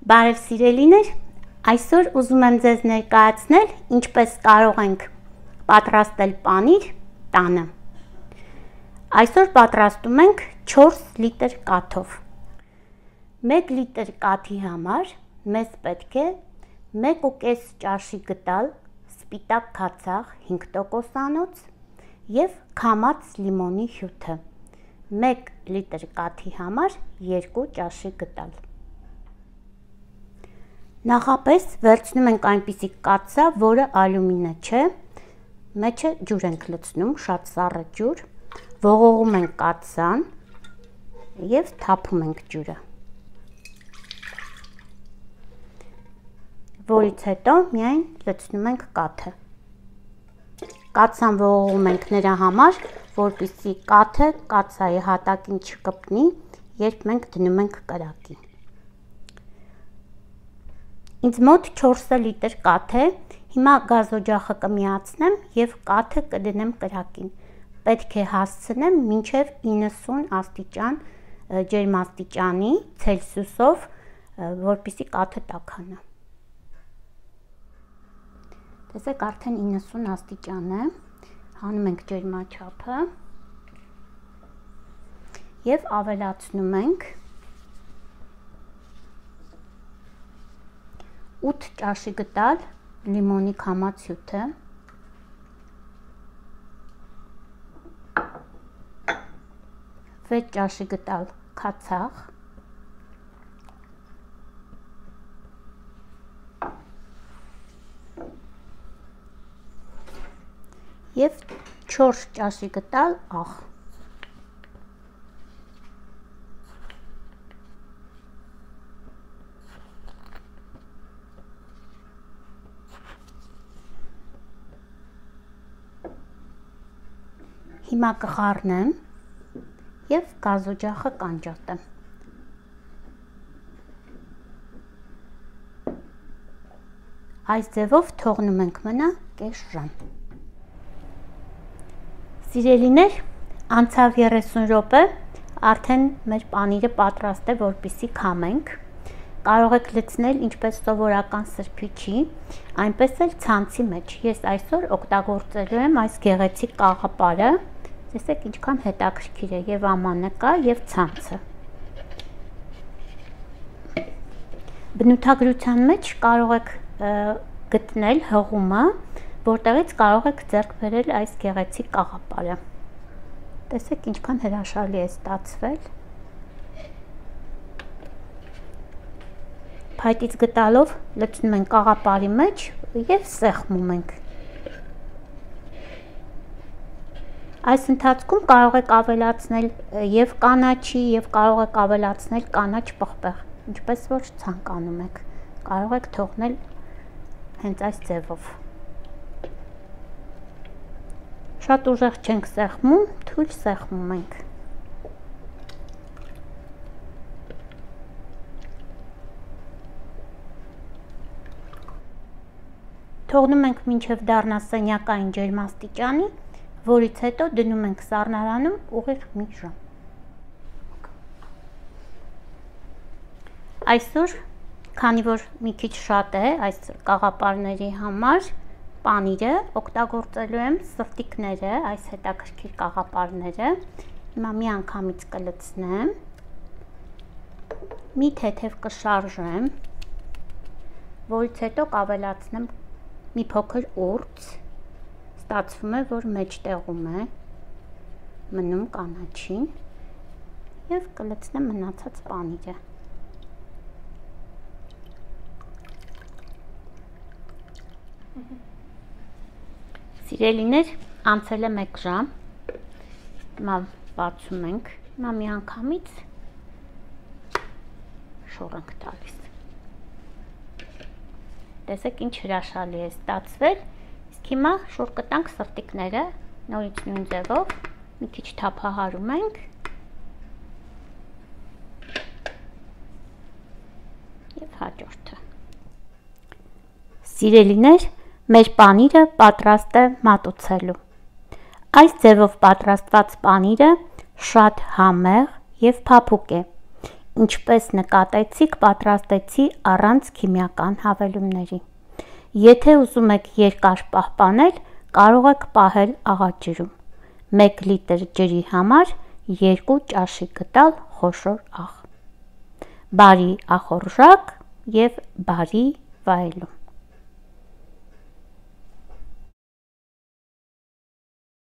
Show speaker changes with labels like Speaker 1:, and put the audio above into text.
Speaker 1: Բարև սիրելիներ, այսօր ուզում եմ ձեզ ներկայացնել ինչպես կարող ենք պատրաստել պանիր տանը։ Այսօր պատրաստում ենք 4 լիտր կաթով։ 1 լիտր կաթի համար մեզ պետք է 1.5 ճաշի գդալ սպիտակ քացախ 5%-անոց և քամած լիմոնի հյութը։ 1 լիտր կաթի համար 2 ճաշի գդալ։ Նախապես վերցնում ենք այնպիսի կաթսա, որը ալյումինե չէ, մեջը ջուր ենք լցնում, շատ սառը ջուր, ողողում ենք կաթսան և թափում ենք ջուրը, որից հետո միայն լցնում ենք կաթը։ Կաթսան ողողում ենք նրա համար, որպեսզի կաթը կաթսայի հատակին չկպնի, երբ մենք դնում ենք կրակի։ Ինձ մոտ 4 լիտր կաթ է, հիմա գազօջախը կմիացնեմ և կաթը կդնեմ կրակին։ Պետք է հասցնեմ մինչև 90 աստիճան ջերմաստիճանի ցելսիուսով, որպեսզի կաթը տաքանա։ Տեսեք, արդեն 90 աստիճան է, հանում ենք ջերմաչափը և ավելացնում ենք 8 ճաշի գդալ լիմոնի քամած հյութը, 6 ճաշի գդալ քացախ, և 4 ճաշի գդալ աղ։ Հիմա կխառնեմ և գազօջախը կանջատեմ։ Այս ձևով թողնում ենք մնա կես ժամ։ Սիրելիներ, անցավ 30 րոպե, արդեն մեր պանիրը պատրաստ է, որպեսզի քամենք։ Կարող եք լցնել ինչպես սովորական սրբիչի, այնպես էլ ցանցի մեջ։ Ես այսօր օգտագործելու եմ այս գեղեցիկ կաղապարը։ Տեսեք ինչքան հետաքրքիր է, և ամանը կա, և ցանցը։ Բնութագրության մեջ կարող եք գտնել հղումը, որտեղից կարող եք ձեռք բերել այս գեղեցիկ կաղապարը։ Տեսեք ինչքան հրաշալի է ստացվել։ Փայտից գտալով լցնում ենք կաղապարի մեջ և սեղմում ենք։ Այս ընթացքում կարող եք ավելացնել և կանաչի, և կարող եք ավելացնել կանաչ պղպեղ, ինչպես որ ցանկանում եք, կարող եք թողնել հենց այս ձևով։ Շատ ուժեղ չենք սեղմում, թույլ սեղմում ենք։ Թողնում ենք մինչև դառնա սենյակային ջերմաստիճանի, որից հետո դնում ենք սառնարանում ուղիղ մի ժամ։ Այսօր, քանի որ մի քիչ շատ է այս կաղապարների համար, պանիրը օգտագործելու եմ սրտիկները, այս հետաքրքիր կաղապարները։ Հիմա մի անգամից կլցնեմ, մի թեթև կշարժեմ, որից հետո կավելացնեմ մի փոքր ուրց, ստացվում է, որ մեջտեղում է մնում կանաչին և կլցնեմ մնացած պանիրը։ Սիրելիներ, անցել է 1 ժամ, հիմա բացում ենք, հիմա մի անգամից շոր ենք տալիս։ Տեսեք ինչ հրաշալի է ստացվել, իսկ հիմա շուռ կտանք սրտիկները, նորից նույն ձևով, մի քիչ թափահարում ենք և հաջորդը։ Սիրելիներ, մեր պանիրը պատրաստ է մատուցելու։ Այս ձևով պատրաստված պանիրը շատ համեղ և փափուկ է, ինչպես նկատեցիք, պատրաստեցի առանց քիմիական հավելումների։ Եթե ուզում եք երկար պահպանել, կարող եք պահել աղաջրում։ 1 լիտր ջրի համար 2 ճաշի գտալ խոշոր աղ։ Բարի ախորժակ և բարի վայելում։